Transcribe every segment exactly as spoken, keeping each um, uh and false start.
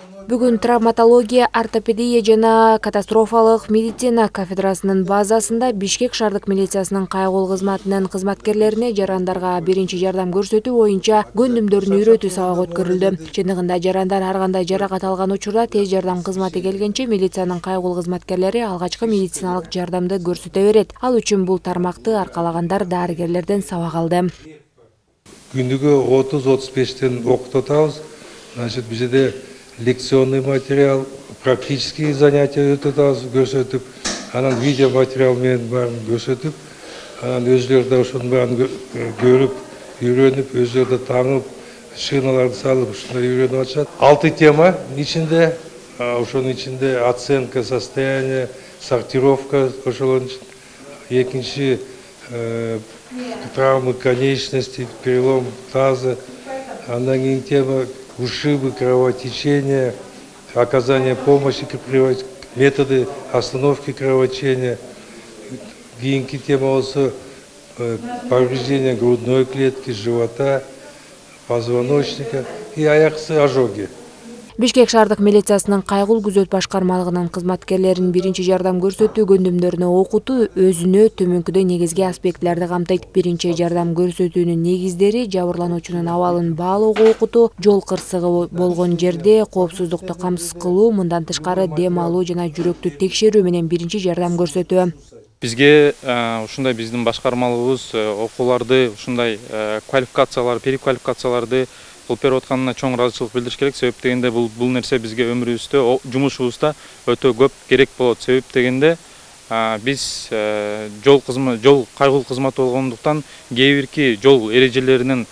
Бүгүн травматология, ортопедия жана катастрофалык медицина кафедрасынын базасында Бишкек шаардык милициясынын кайгылуу кызматынын кызматкерлерине жарандарга биринчи жардам көрсөтүү боюнча көндүмдөрүн үйрөтүү сабак өткөрүлдү. Чындыгында жарандар ар кандай жаракат алган учурда тез жардам кызматы келгенче милициянын кайгылуу кызматкерлери алгачкы медициналык жардамды көрсөтө берет. Ал үчүн бул тармакты аркалагандар дарыгерлерден сабак алды. Күндүгө отуз отуз бештен окутуп атабыз. Значит, бизде лекционный материал, практические занятия өтөтөбүз, көрсөтүп, анан видео материал менен баарын көрсөтүп, анан өзүлөрү да ошонун баарын көрүп, үйрөнүп, өзүлөрү да таңып, шиналарды салып, ушундай үйрөнүп атышат. Алты тема ичинде, ошонун ичинде оценка состояния, сортировка, ошолордун экинчи травмы конечности, перелом таза, андан кийин тема ушибы, кровотечения, оказание помощи, методы остановки кровотечения. Кийинки тема болсо повреждение грудной клетки, живота, позвоночника и аяксы ожоги. Бишкек шаардык милициясынын кайгылуу күзөт башкармалыгынын кызматкерлеринин биринчи жардам көрсөтүү көндүмдөрүнө окутуу өзүнө төмөнкүдөй негизги аспектлерди камтыйт. Биринчи жардам көрсөтүүнүн негиздери жабырлануучунун абалын баалоого окутуу, жол кырсыгы болгон жерде коопсуздукту камсыз кылуу, мындан тышкары дем алуу жана жүрөктү текшерүү менен биринчи жардам көрсөтүү. Бизге ушундай биздин башкармалыгыбыз окууларды, ушундай квалификациялар, переквалификацияларды кылып берип атканына чоң ыраазычылык билдириш керек. Себеп дегенде бул бул нерсе бизге өмүрүбүздө, жумушубузда өтө көп керек болот. Себеп дегенде биз жол кызмат, жол кайгылуу кызматы болгондуктан кээ бирки жол эрежелеринин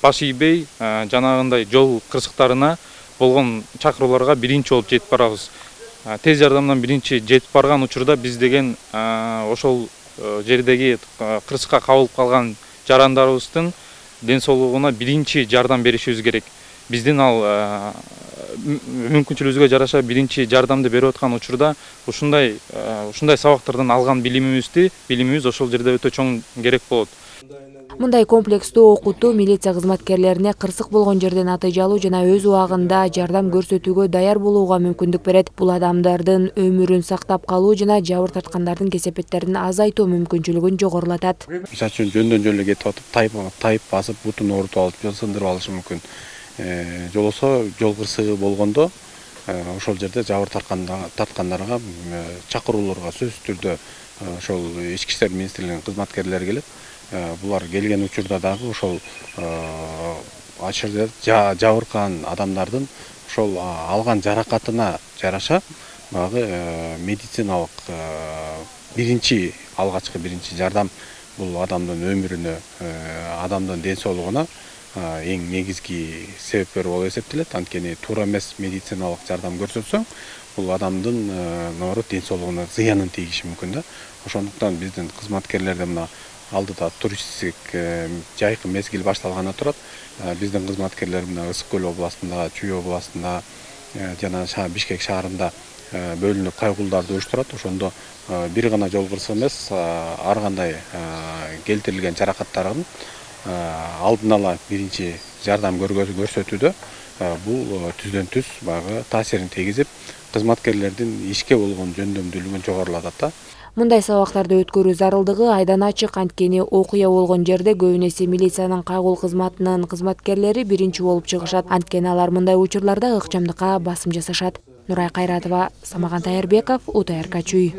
баш ийбей, жанагындай жол кырсыктарына болгон чакырууларга биринчи болуп жетип барабыз. Тез жардамдан биринчи жетип барган учурда биз деген ошол жердеги кырсыкка кабылып калган жарандарыбыздын ден соолугуна биринчи жардам беришибиз керек. Биздин ал мүмкүнчүлүгүбүзгө жараша биринчи жардамды берип аткан учурда ушундай ушундай сабактардан алган билимибизди, билимибиз ошол жерде өтө чоң керек болот. Мындай комплекстүү окутуу милиция кызматкерлерине кырсык болгон жерден натыйжалуу жана өз убагында жардам көрсөтүүгө даяр болууга мүмкүндүк берет. Бул адамдардын өмүрүн сактап калуу жана жабыр тарткандардын кесепеттерин азайтуу мүмкүнчүлүгүн жогорулатат. Мисалы үчүн жөндөн жөн эле кетип атып, тайып тайып басып, бутун оорутуп алып, же сындырып алышы мүмкүн. Жолосо жол кырсыгы болгондо ошол жерде жабыр тарткандарга чакырууларга сөзсүз түрдө ошол ички иштер министрлигинин кызматкерлери келет. Булар келген учурда дагы ошол ачыр жабыркаган адамдардын ошол алган жаракатына жараша багы медициналык биринчи алгачкы биринчи жардам бул адамдын өмүрүнө, адамдын ден соолугуна эң негизги себепкер болуп эсептелет. Анткени туура эмес медициналык жардам көрсөтсөң, бул адамдын наоборот ден соолугуна зыянын тийиши мүмкүн да. Ошондуктан биздин кызматкерлерде мына алдыда туристтик жайкы мезгил башталганы турат. Биздин кызматкерлер мына Ысык көл областында, Чүй областында жана Бишкек шаарында бөлүнүп кайгылууларды уюштурат. Ошондо бир гана жол кырсыгы эмес, ар кандай келтирилген жаракаттардын алдын ала биринчи жардам көрсөтүүдө бул түздөн түз багы таасирин тийгизип, кызматкерлердин ишке болгон жөндөмдүүлүгүн жогорулатат да. Мындай сабактарды өткөрүү зарылдыгы айдан ачык, анткени окуя болгон жерде көбүн эсе милициянын кайгылуу кызматынын кызматкерлери биринчи болуп чыгышат. Анткени алар мындай учурларда ыкчамдыкка басым жасашат. Нурай Кайратова, Самаган Таярбеков, УТРК Чүй.